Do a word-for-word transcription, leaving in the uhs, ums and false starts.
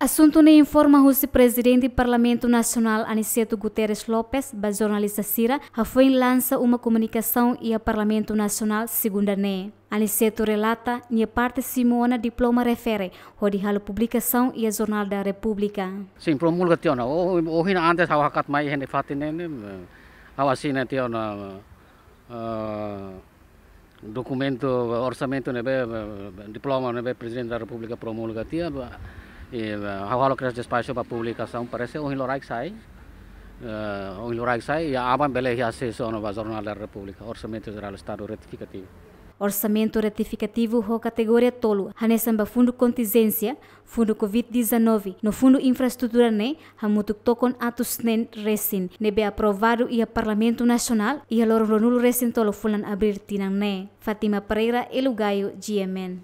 Asuntu ne'e informa husi Prezidente Parlamentu Nasionál Aniceto Guterres Lopes ba jornalista sira hafoin lansa uma komunikasaun iha Parlamentu Nasionál segunda ne'e. Aniceto relata nia parte simu ona diploma refere hodi halo publikasaun iha Jornal da República. Sin, promulga tiha ona. O, ohin antes ha'u hakat mai iha ne'e fatin ne'e, eh, ha'u asina tiha ona, eh, dokumentu orsamentu ne'ebé, eh, diploma ne'ebé Prezidente da Repúblika promulga tiha, eh, ha'u halo kedas despaxu ba publikasaun, parese ohin loraik sai, eh, ohin loraik sai, i aban bele iha asesu ona ba Jornal da Repúblika, Orsamentu Jerál Estadu Retifikativu. Orsamentu retifikativu ho kategoria tolu, hanesan ba fundu kontinjénsia, fundu covid dezanove, no fundu infraestrutura ne'e, hamutuk tokon atus neen resin, ne'ebé aprovadu iha Parlamentu Nasionál, iha loron ruanulu resin tolu fulan Abríl tinan ne'e. Fátima Pereira, Elo Gayo, G M N.